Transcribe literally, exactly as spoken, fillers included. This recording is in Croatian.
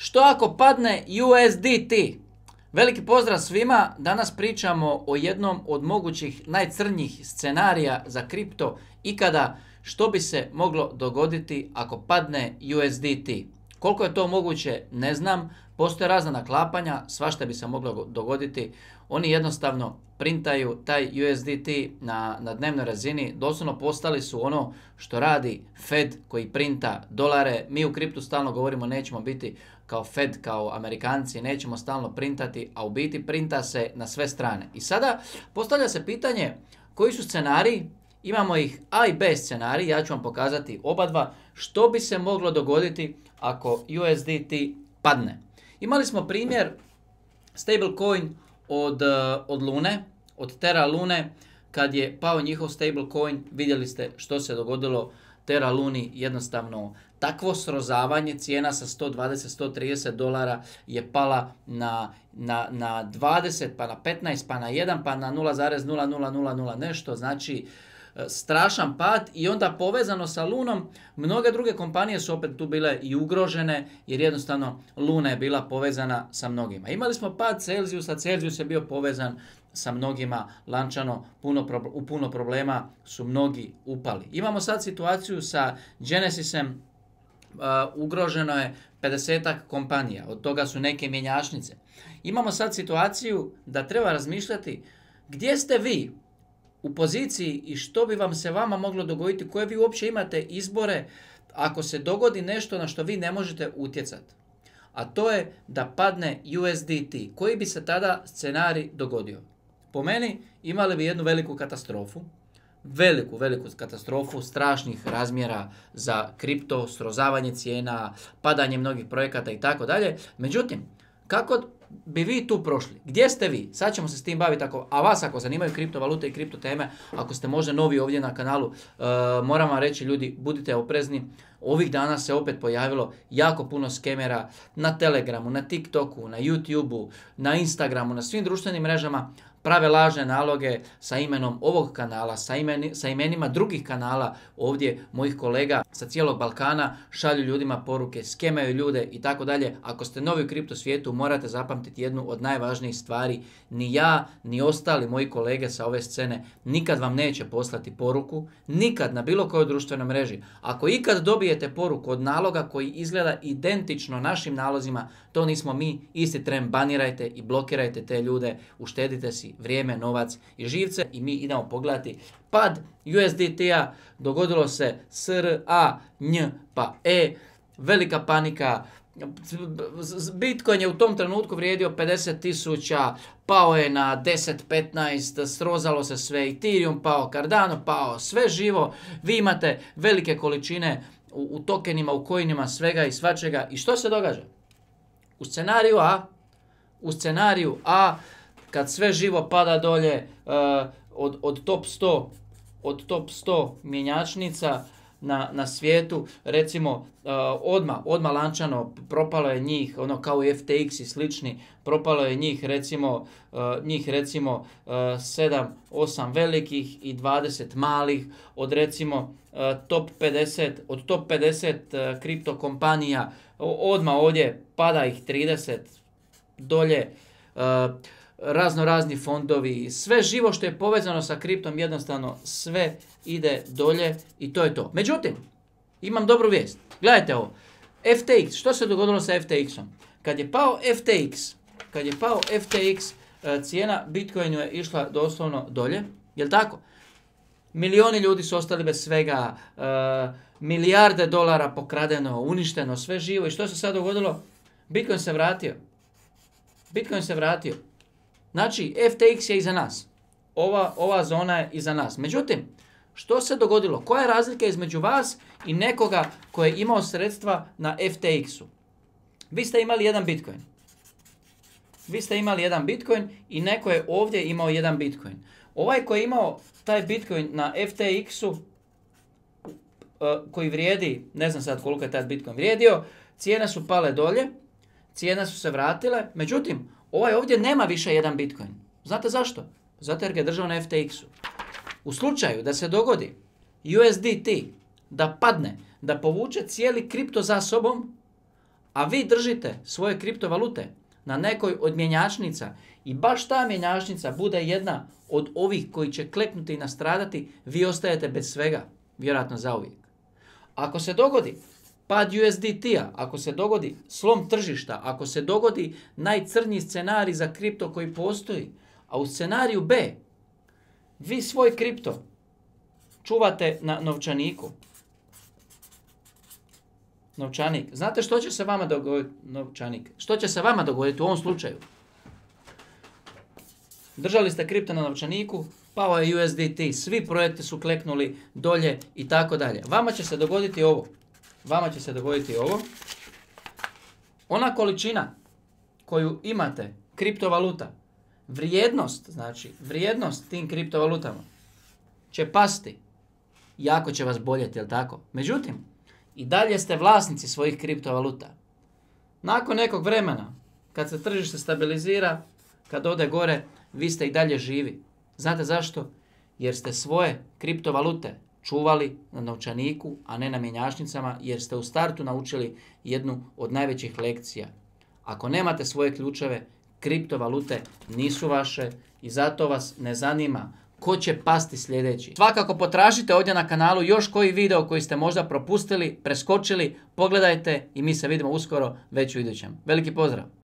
Što ako padne U S D T? Veliki pozdrav svima, danas pričamo o jednom od mogućih najcrnjih scenarija za kripto ikada, što bi se moglo dogoditi ako padne U S D T. Koliko je to moguće ne znam, postoje razna naklapanja, svašta bi se moglo dogoditi. Oni jednostavno printaju taj U S D T na, na dnevnoj razini, doslovno postali su ono što radi Fed koji printa dolare. Mi u kriptu stalno govorimo nećemo biti kao Fed, kao Amerikanci, nećemo stalno printati, a u biti printa se na sve strane. I sada postavlja se pitanje koji su scenariji, imamo ih A i B scenarij, ja ću vam pokazati oba dva, što bi se moglo dogoditi ako U S D T padne. Imali smo primjer stablecoin od, od Lune, od Terra Lune, kad je pao njihov stablecoin, vidjeli ste što se dogodilo Terra Luni, jednostavno takvo srozavanje, cijena sa sto dvadeset do sto trideset dolara je pala na, na, na dvadeset, pa na petnaest, pa na jedan, pa na nula zarez nula nula nula nula nešto, znači strašan pad. I onda povezano sa Lunom, mnoge druge kompanije su opet tu bile i ugrožene, jer jednostavno Luna je bila povezana sa mnogima. Imali smo pad Celsiusa, Celsius je bio povezan sa mnogima, lančano, puno, u puno problema su mnogi upali. Imamo sad situaciju sa Genesisem, uh, ugroženo je pedesetak kompanija, od toga su neke mjenjačnice. Imamo sad situaciju da treba razmišljati gdje ste vi u poziciji i što bi vam se vama moglo dogoditi, koje vi uopće imate izbore ako se dogodi nešto na što vi ne možete utjecati. A to je da padne U S D T. Koji bi se tada scenarij dogodio? Po meni imali bi jednu veliku katastrofu, veliku, veliku katastrofu, strašnih razmjera za kripto, srozavanje cijena, padanje mnogih projekata i tako dalje. Međutim, kako bi vi tu prošli? Gdje ste vi? Sad ćemo se s tim baviti, ako, a vas ako zanimaju kriptovalute i kripto teme, ako ste možda novi ovdje na kanalu, uh, moram vam reći ljudi, budite oprezni. Ovih dana se opet pojavilo jako puno skemera na Telegramu, na TikToku, na YouTubeu, na Instagramu, na svim društvenim mrežama, prave lažne naloge sa imenom ovog kanala, sa, imeni, sa imenima drugih kanala ovdje mojih kolega sa cijelog Balkana, šalju ljudima poruke, skemaju ljude i tako dalje. Ako ste novi u kripto svijetu, morate zapamtiti jednu od najvažnijih stvari. Ni ja, ni ostali moji kolege sa ove scene nikad vam neće poslati poruku, nikad na bilo kojoj društvenoj mreži. Ako ikad dobijete poruku od naloga koji izgleda identično našim nalozima, to nismo mi, isti tren banirajte i blokirajte te ljude, uštedite si vrijeme, novac i živce. I mi idemo pogledati pad U S D T-a, dogodilo se S R A N pa E, velika panika, Bitcoin je u tom trenutku vrijedio pedeset tisuća, pao je na deset petnaest, srozalo se sve, Ethereum pao, Cardano pao, sve živo, vi imate velike količine u, u tokenima, u coinima, svega i svačega. I što se događa? U scenariju A, u scenariju A, kad sve živo pada dolje uh, od, od top sto, od top sto mjenjačnica na, na svijetu, recimo uh, odmah, odmah lančano propalo je njih, ono kao i F T X i slični, propalo je njih recimo, uh, njih recimo uh, sedam osam velikih i dvadeset malih, od recimo uh, top pedeset, od top pedeset uh, kripto kompanija, odmah ovdje pada ih trideset dolje, uh, razno razni fondovi, sve živo što je povezano sa kriptom, jednostavno sve ide dolje i to je to. Međutim, imam dobru vijest. Gledajte ovo. F T X, što se dogodilo sa F T X-om? Kad je pao F T X, kad je pao F T X, cijena Bitcoinu je išla doslovno dolje, jel tako? Milioni ljudi su ostali bez svega, uh, milijarde dolara pokradeno, uništeno, sve živo. I što se sad dogodilo? Bitcoin se vratio. Bitcoin se vratio. Znači, F T X je iza nas. Ova, ova zona je iza nas. Međutim, što se dogodilo? Koja je razlika između vas i nekoga koji je imao sredstva na F T X-u? Vi ste imali jedan Bitcoin. Vi ste imali jedan Bitcoin i neko je ovdje imao jedan Bitcoin. Ovaj koji je imao taj Bitcoin na F T X-u, koji vrijedi, ne znam sad koliko je taj Bitcoin vrijedio, cijene su pale dolje, cijene su se vratile, međutim, ovaj ovdje nema više jedan Bitcoin. Znate zašto? Zato jer ga je držao na F T X-u. U slučaju da se dogodi U S D T, da padne, da povuče cijeli kripto za sobom, a vi držite svoje kriptovalute na nekoj od mjenjačnica i baš ta mjenjačnica bude jedna od ovih koji će kleknuti i nastradati, vi ostajete bez svega, vjerojatno zauvijek. Ako se dogodi pad U S D T-a, ako se dogodi slom tržišta, ako se dogodi najcrnji scenarij za kripto koji postoji, a u scenariju B vi svoj kripto čuvate na novčaniku. Novčanik. Znate što će se vama dogoditi? Novčanik. Što će se vama dogoditi u ovom slučaju? Držali ste kripto na novčaniku, pao je U S D T, svi projekti su kleknuli dolje i tako dalje. Vama će se dogoditi ovo. Vama će se dogoditi ovo. Ona količina koju imate kriptovaluta, vrijednost, znači vrijednost tim kriptovalutama će pasti. Jako će vas boljeti, jel tako? Međutim, i dalje ste vlasnici svojih kriptovaluta. Nakon nekog vremena, kad se tržište stabilizira, kad ode gore, vi ste i dalje živi. Znate zašto? Jer ste svoje kriptovalute čuvali na novčaniku, a ne na mjenjačnicama, jer ste u startu naučili jednu od najvećih lekcija. Ako nemate svoje ključeve, kriptovalute nisu vaše i zato vas ne zanima ko će pasti sljedeći. Svakako potražite ovdje na kanalu još koji video koji ste možda propustili, preskočili, pogledajte i mi se vidimo uskoro već u idućem. Veliki pozdrav!